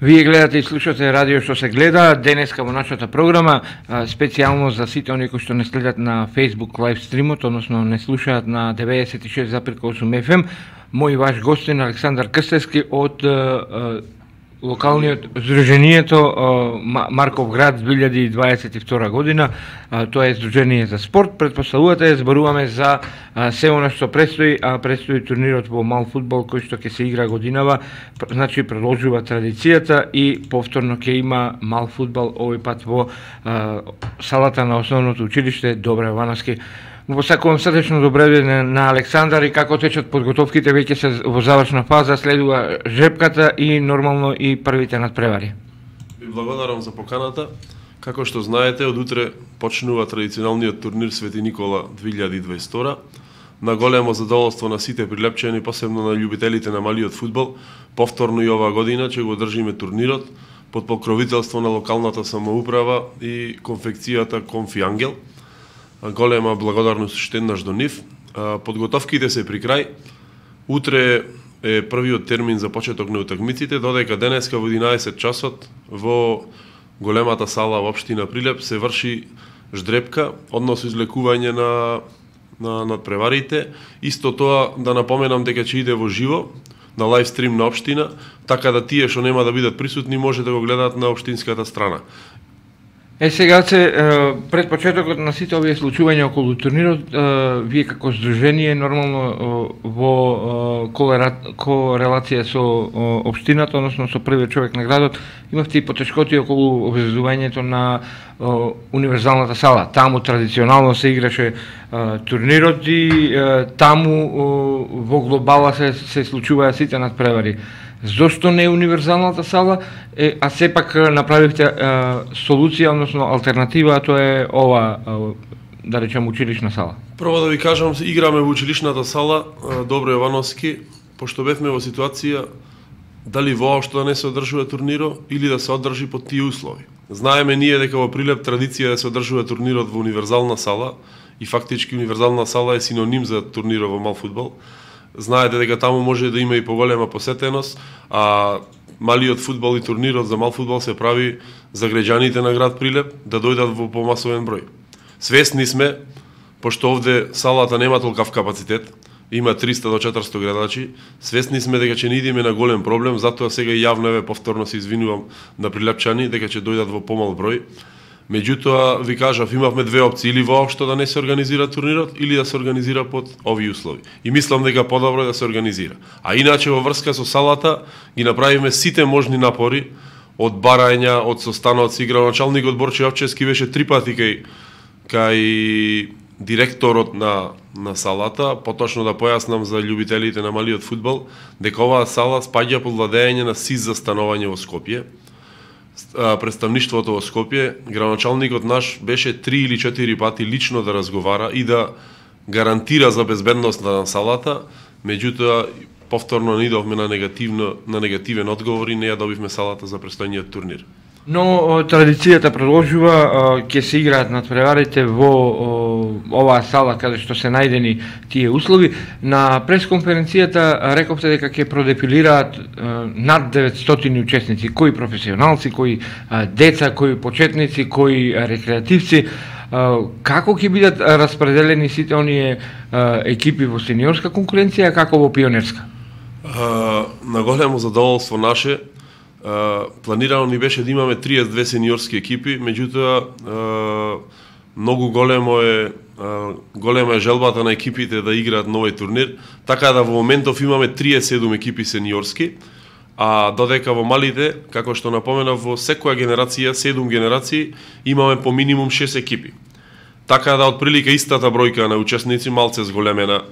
Вие гледате и слушате радио што се гледа. Денеска во нашата програма, специјално за сите оние кои што не следат на Facebook лайв стримот, односно не слушаат на 96,8 FM, мој ваш гостин Александар Крстевски од локалниот Здруженијето Марков град 2022 година. Тоа е Здружение за спорт. Претпоставувате, зборуваме за се она што предстои, предстои турнирот во мал фудбал кој што ќе се игра годинава, значи продолжува традицијата и повторно ќе има мал фудбал овој пат во салата на основното училиште Добре Јовановски. Го посакувам срдечно добре на Александар и како течат подготовките, веќе се во завршна фаза, следува жрепката и нормално и првите надпревари. Ви благодарам за поканата. Како што знаете, од утре почнува традиционалниот турнир Свети Никола 2022. На големо задоволство на сите прилепчени, посебно на љубителите на малиот фудбал, повторно и оваа година ќе го држиме турнирот под покровителство на локалната самоуправа и конфекцијата Конфи Ангел. Голема благодарност уште еднаш до нив. Подготовките се при крај. Утре е првиот термин за почеток на утакмиците, додека денеска во 11 часот во големата сала во општина Прилеп се врши ждрепка, односно излекување на надпреварите. Исто тоа да напоменам дека ќе иде во живо на лайв стрим на општина, така да тие што нема да бидат присутни може да го гледаат на општинската страна. Сега пред почетокот на сите овие случувања околу турнирот, вие како здружение нормално во корелација со општината, односно со првиот човек на градот, имавте и потешкоти околу обезбедувањето на универзалната сала. Таму традиционално се играше турнирот и таму во глобала се случуваа сите надпревари. Зошто не универзалната сала, а сепак направивте солуција, односно алтернатива, а тоа е ова, да речем, училишна сала? Прво да ви кажам, играме во училишната сала Добре Јовановски, пошто бевме во ситуација дали воопшто да не се одржува турниро или да се одржи под тие услови. Знаеме ние дека во Прилеп традиција да се одржува турнирот во универзална сала и фактички универзална сала е синоним за турнирот во мал фудбал. Знаете дека таму може да има и поголема посетеност, а малиот фудбал и турнирот за мал фудбал се прави за граѓаните на град Прилеп да дојдат во помасовен број. Свесни сме, пошто овде салата нема толкав капацитет, има 300 до 400 гледачи, свесни сме дека ќе не идеме на голем проблем, затоа сега јавно повторно се извинувам на прилепчани дека ќе дојдат во помал број. Меѓутоа, ви кажав, имавме две опции, или воопшто да не се организира турнирот, или да се организира под овие услови. И мислам дека подобро е да се организира. А иначе во врска со салата ги направивме сите можни напори, од барања, од состаноци, градоначалникот Борче Овчевски беше 3 пати кај директорот на салата, поточно да појаснам за љубителите на малиот фудбал, дека оваа сала спаѓа под владење на СИЗ за становање во Скопје. Представништвото во Скопје, градоначалникот наш беше 3 или 4 пати лично да разговара и да гарантира за безбедност на салата, меѓутоа повторно не идовме на негативен одговор и не ја добивме салата за престојниот турнир. Но традицијата продолжува, ќе се играат надпреварите во оваа сала каде што се најдени тие услови. На пресконференцијата рековте дека ќе продефилираат над 900 учесници, кои професионалци, кои деца, кои почетници, кои рекреативци. Како ќе бидат распределени сите оние екипи во сениорска конкуренција, како во пионерска? На големо задоволство наше, планирано ни беше да имаме 32 сениорски екипи, меѓутоа многу голема е желбата на екипите да играат на овој турнир, така да во моментов имаме 37 екипи сениорски, а додека во малите, како што напоменав, во секоја генерација, 7 генерации, имаме по минимум 6 екипи. Така да отприлика истата бројка на учесници, малце зголемена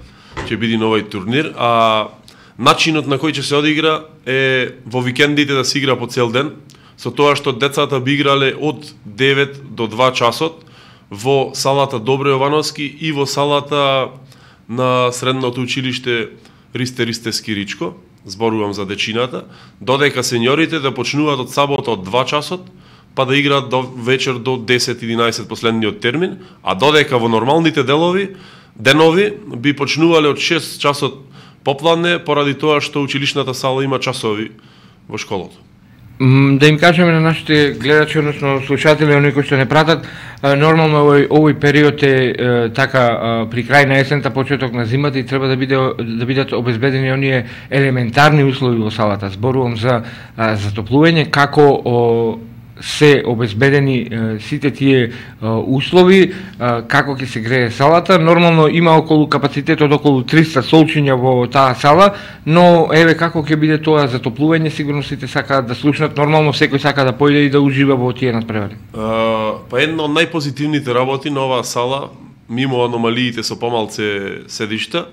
ќе биде на овој турнир, а начинот на кој ќе се одигра е во викендите да се игра по цел ден, со тоа што децата би играле од 9 до 2 часот во салата Добре Јовановски и во салата на средното училиште Ристе Ристевски Ричко, зборувам за дечината, додека сениорите да почнуваат од сабота од 2 часот, па да играат до вечер до 10-11 последниот термин, а додека во нормалните денови би почнувале од 6 часот попладне, поради тоа што училишната сала има часови во школото. Да им кажеме на нашите гледачи, односно слушатели, оние кои што не пратат, нормално овој период е така при крај на есента, почеток на зимата и треба да бидат обезбедени оние елементарни услови во салата. Зборувам за затоплување, како се обезбедени сите тие услови, како ќе се грее салата. Нормално има капацитет од околу 300 столчиња во таа сала, но еве како ќе биде тоа затоплување, сигурно сите сакаат да слушнат. Нормално секој сака да појде и да ужива во тие надпревари. Па една од најпозитивните работи на оваа сала, мимо аномалиите со помалце седишта,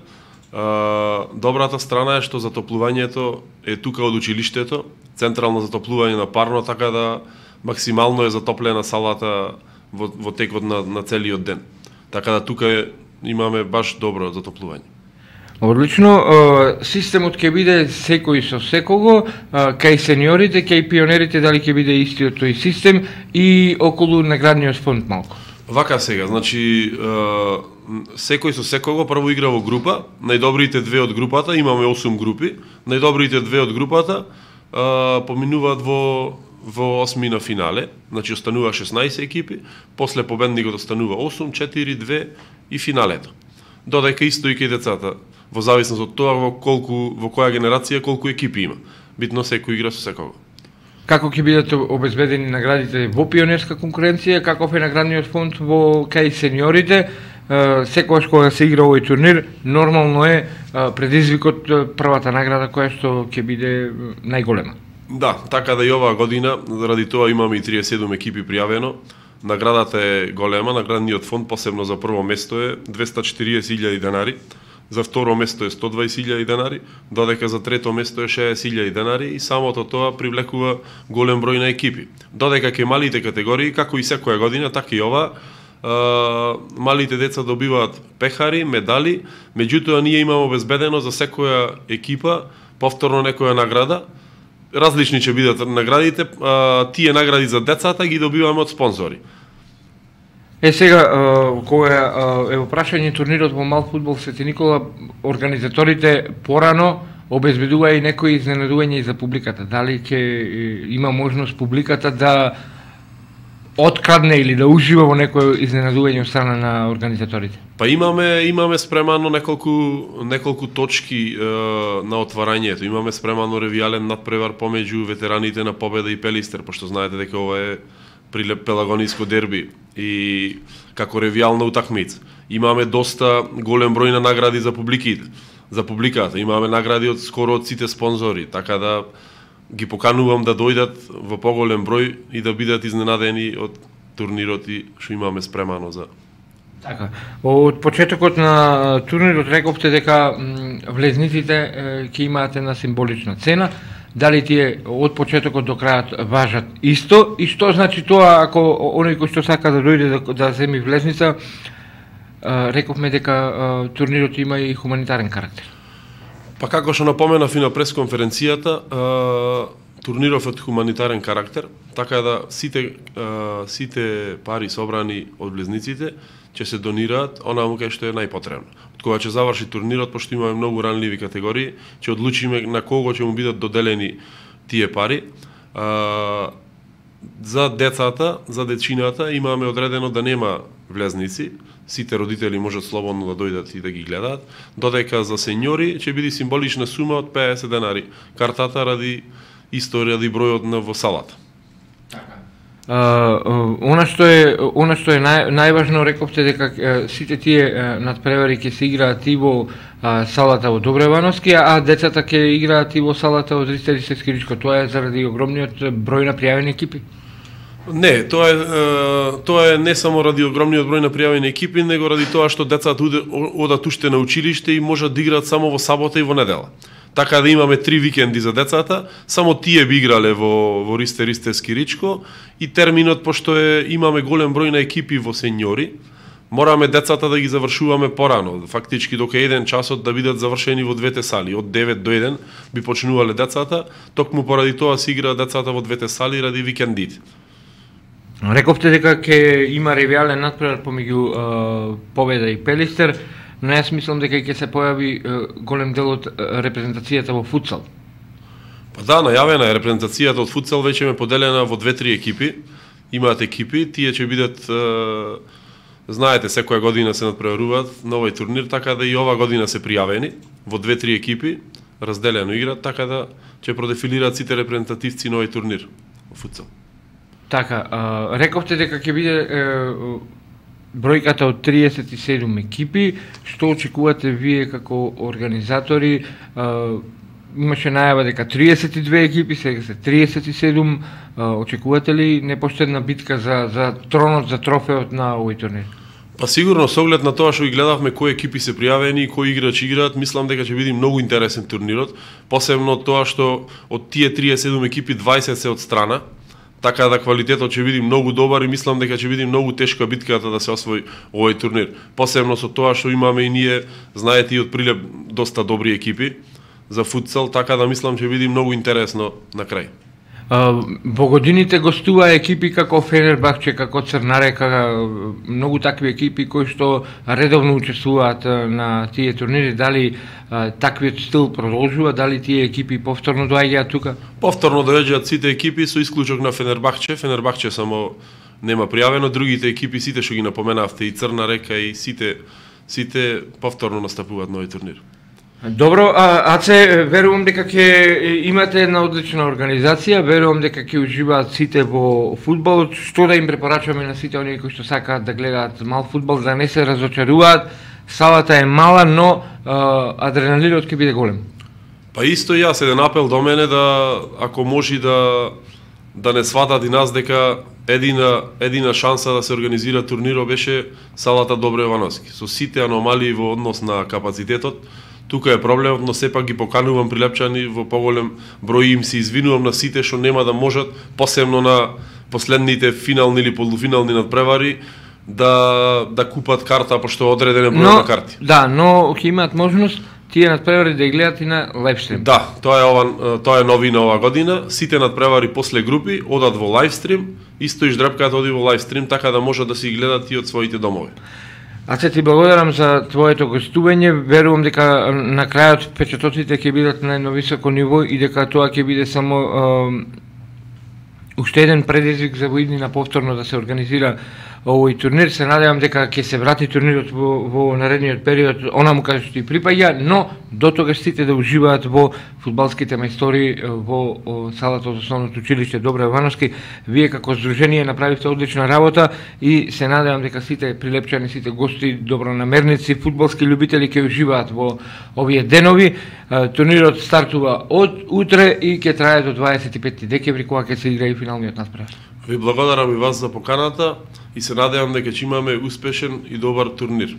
добрата страна е што затоплувањето е тука од училиштето, централно затоплување на парно, така да максимално е затоплена салата во текот на целиот ден. Така да тука имаме баш добро затоплување. Одлично, системот ќе биде секој со секого, кај сениорите, кај пионерите, дали ќе биде истиот тој систем и околу наградниот фонд малку? Вака сега, значи секој со секого прво игра во група, најдобрите две од групата, имаме 8 групи, најдобрите две од групата поминуваат во осмина финале, значи останува 16 екипи, после победникот останува 8, 4, 2 и финалето. Додека исто и кај децата, во зависност од тоа во која генерација колку екипи има. Битно секој игра со секого. Како ќе бидат обезбедени наградите во пионерска конкуренција, каков е наградниот фонд во кај сениорите? Секогаш кога се игра овој турнир, нормално е предизвикот првата награда која што ќе биде најголема. Да, така да и оваа година, заради тоа имаме и 37 екипи пријавено. Наградата е голема, наградниот фонд посебно за прво место е 240.000 денари, за второ место е 120.000 денари, додека за трето место е 60.000 денари и самото тоа привлекува голем број на екипи. Додека ке малите категории, како и секоја година, така и ова, малите деца добиваат пехари, медали, меѓутоа ние имаме обезбедено за секоја екипа повторно некоја награда. Различни ќе бидат наградите, тие награди за децата ги добиваме од спонзори. Сега, кога е во прашање турнирот во мал фудбал Свети Никола, организаторите порано обезбедува и некои изненадување и за публиката. Дали ќе има можност публиката да открадне или да ужива во некој изненадување од страна на организаторите? Па имаме спремано неколку точки на отварањето. Имаме спремано ревијален надпревар помеѓу ветераните на Победа и Пелистер, пошто знаете дека ова е пелагониско дерби и како ревијална утакмица. Имаме доста голем број на награди за публиката. Имаме награди од скоро од сите спонзори, така да ги поканувам да дојдат во поголем број и да бидат изненадени од турнирот и што имаме спремано за. Така. Од почетокот на турнирот рековте дека влезниците ќе имаат една символична цена. Дали тие од почетокот до крајот важат исто и што значи тоа ако оној кој што сака да дојде да земи влезница, рековме дека турнирот има и хуманитарен карактер. Па како што напоменав и на пресконференцијата, турниров од хуманитарен карактер, така да сите пари собрани од влезниците ќе се донираат онаму кај што е најпотребно. Од кога ќе заврши турнирот, пошто имаме многу ранливи категории, ќе одлучиме на кого ќе му бидат доделени тие пари. За децата, за дечината имаме одредено да нема влезници, сите родители можат слободно да дојдат и да ги гледаат, додека за сеньори ќе биде символична сума од 50 денари. Картата ради бројот во салата. Она што е најважно, рековте дека сите тие надпревари ќе се играат и во салата во Добревановски, а децата ќе играат и во салата во Ристеристе Скиричко. Тоа е заради огромниот број на пријавени екипи? Не, тоа е не само ради огромниот број на пријавени екипи, него ради тоа што децата одат уште на училиште и можат да играат само во сабота и во недела. Така да имаме 3 викенди за децата, само тие би играле во Ристеристе Скиричко и терминот, пошто имаме голем број на екипи во сеньори, мораме децата да ги завршуваме порано, фактички дока 1 часот да бидат завршени во двете сали, од 9 до 1 би почнувале децата, токму поради тоа се игра децата во двете сали ради викендите. Рековте дека ќе има ревијален надпревар помеѓу Победа и Пелистер, но јас мислам дека ќе се појави голем дел од репрезентацијата во футсал. Па да, најавена е репрезентацијата од футсал, веќе ме поделена во 2-3 екипи. Имаат екипи, тие ќе бидат, знаете, секоја година се надпреваруваат на овој турнир, така да и ова година се пријавени во 2-3 екипи, разделено играат, така да ќе продефилираат сите репрезентативци на овој турнир во футсал. Така, рековте дека ќе биде бројката од 37 екипи. Што очекувате вие како организатори? Имаше најава дека 32 екипи, сега се 37. Очекувате ли непоштедна битка за тронот, за трофеот на овој турнир? Па сигурно, со оглед на тоа што ги гледавме кои екипи се пријавени и кои играчи играат, мислам дека ќе биде многу интересен турнирот, посебно тоа што од тие 37 екипи 20 се од страна, така да квалитетот ќе биде многу добар и мислам дека ќе биде многу тешка битката да се освои овој турнир. Посебно со тоа што имаме и ние, знаете, и од прилеп доста добри екипи за футсал, така да мислам ќе биде многу интересно на крај. Во годините гостува екипи како Фенербахче, како Црна Река, многу такви екипи кои што редовно учествуваат на тие турнири. Дали таквиот стил продолжува, дали тие екипи повторно доаѓаат тука? Повторно доаѓаат сите екипи со исклучок на Фенербахче. Фенербахче само нема пријавено, другите екипи сите што ги напоменавте, и Црна Река и сите повторно настапуваат на овој турнир. Добро, Аце, верувам дека ќе имате една одлична организација, верувам дека ќе уживаат сите во фудбалот. Што да им препорачуваме на сите оние кои што сакаат да гледаат мал фудбал, да не се разочаруваат? Салата е мала, но адреналинот ќе биде голем. Па исто јас, еден апел до мене да, ако може да не сватат и нас дека едина шанса да се организира турниро беше салата Добро Јовановски. Со сите аномалии во однос на капацитетот, тука е проблемот, но сепак ги поканувам прилепчани во поголем број, им се извинувам на сите што нема да можат, посебно на последните финални или полуфинални надпревари, да купат карта, пошто одреден е број на карти. Да, но ќе имаат можност тие надпревари да гледаат и на лайвстрим. Да, тоа е новина ова година. Сите надпревари после групи одат во лайвстрим, исто и ждрепката оди во лайвстрим, така да можат да се гледаат и од своите домови. Аце, ти благодарам за твоето гостување. Верувам дека на крајот впечатоците ќе бидат на едно високо ниво и дека тоа ќе биде само уште еден предизвик за воиднина повторно да се организира овој турнир. Се надевам дека ќе се врати турнирот во наредниот период, онаму каде што и припаѓа, но до тогаш сите да уживаат во фудбалските мајстори во салата од основното училиште Добро Јовановски. Вие како здружение направивте одлична работа и се надевам дека сите прилепчани, сите гости, добронамерници, фудбалски љубители ќе уживаат во овие денови. Турнирот стартува од утре и ќе трае до 25 декември, кога ќе се игра и финалниот надпревар. Ви благодарам и вас за поканата и се надевам дека ќе имаме успешен и добар турнир.